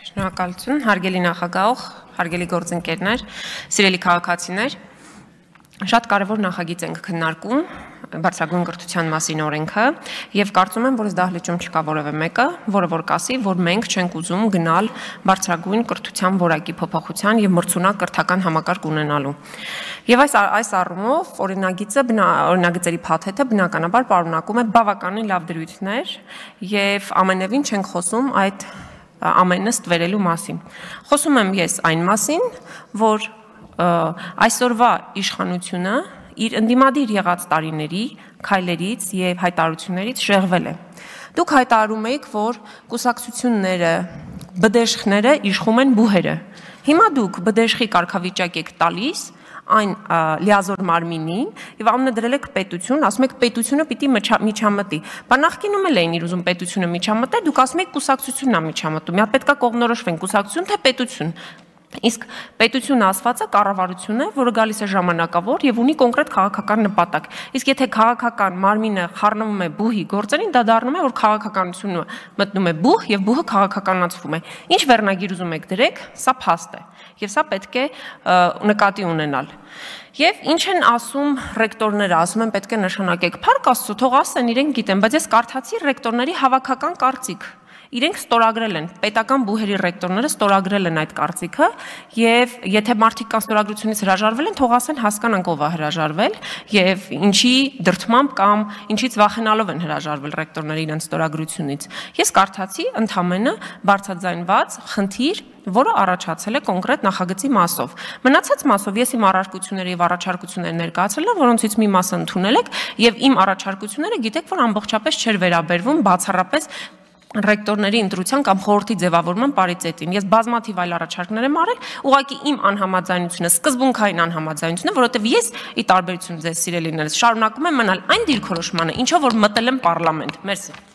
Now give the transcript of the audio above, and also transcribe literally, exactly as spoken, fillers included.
Շնորհակալություն, հարգելի նախագահող, հարգելի գործընկերներ, սիրելի քաղաքացիներ, շատ կարևոր նախագիծ ենք քննարկում, բարձրագույն կրթության մասին օրենքը, եւ կարծում եմ, որ այս դահլիճում չկա որևէ մեկը, որը որ կասի, որ մենք չենք ուզում գնալ բարձրագույն կրթության որակի փոփոխության եւ մրցունակ կրթական համակարգ ունենալու։ Եվ այս այս առումով օրինագիծը օրինագծերի փաթեթը բնականաբար պարունակում է բավականին լավ դրույթներ եւ ամենևին չենք խոսում այդ ամենը ստվերելու մասին։ Խոսում եմ ես այն մասին, որ այսօրվա իշխանությունը իր ընդդիմադիր եղած տարիների քայլերից եւ հայտարարություններից շեղվել է։ Դուք հայտարարում եք, որ կուսակցությունները, բդեշխները իշխում են բուհերը։ Հիմա դուք բդեշխի կարգավիճակ եք տալիս այն լիազոր մարմինին եւ անունը դրել եք պետություն, ասում եք պետությունը պիտի միջամտի։ Բա նախկինում էլ էին իր ուզում պետությունը միջամտել, դուք ասում եք կուսակցությունն է միջամտում։ Մի հատ պետքա կողմնորոշվեն կուսակցություն թե պետություն։ Իսկ պետություն ասվածը կառավարություն է, որը գալիս է ժամանակավոր եւ ունի կոնկրետ քաղաքական նպատակ։ Իսկ եթե քաղաքական մարմինը խառնվում է բուհի գործերին, դա դառնում է, որ քաղաքականությունը մտնում է բուհ եւ բուհը քաղաքականացվում է։ Ինչ վերնագիր ուզում եք դրեք, սա փաստ է։ Եվ սա պետք է նկատի ունենալ։ Եվ ինչ են ասում ռեկտորները, ասում են պետք է նշանակեք փառք Աստծո, թող ասեն, իրենք գիտեն, բայց ես կարդացի ռեկտորների հավաքական կարծիք։ Իրենք ստորագրել են, պետական բուհերի ռեկտորները ստորագրել են այդ կարծիքը եւ եթե մարդիկ կան ստորագրությունից հրաժարվել են, թող ասեն հասկանանք ով է հրաժարվել եւ ինչի դրդմամբ կամ ինչից վախենալով են հրաժարվել ռեկտորները իրենց ստորագրությունից։ Ես կարդացի ընդամենը բարձրաձայնված խնդիր, որը առաջացել է կոնկրետ նախագծի մասով։ Մնացած մասով ես իմ առարկությունները եւ առաջարկությունները ներկայացրել եմ, որոնցից մի մասը ընդունել եք եւ իմ առաջարկությունները գիտեք, որ ամբողջապես չէր վերաբերվում բացառապես ռեկտորների ընտրության կամ խորհրդի ձևավորման պարիտետին։ Ես բազմաթիվ այլ առաջարկներ եմ արել, ուղղակի իմ անհամաձայնությունը, սկզբունքային անհամաձայնությունը, որովհետև ես ի տարբերություն ձեզ սիրելիներս շարունակում եմ մնալ այն դիրքորոշմանը, ինչով որ մտել եմ պարլամենտ։ Մերսի։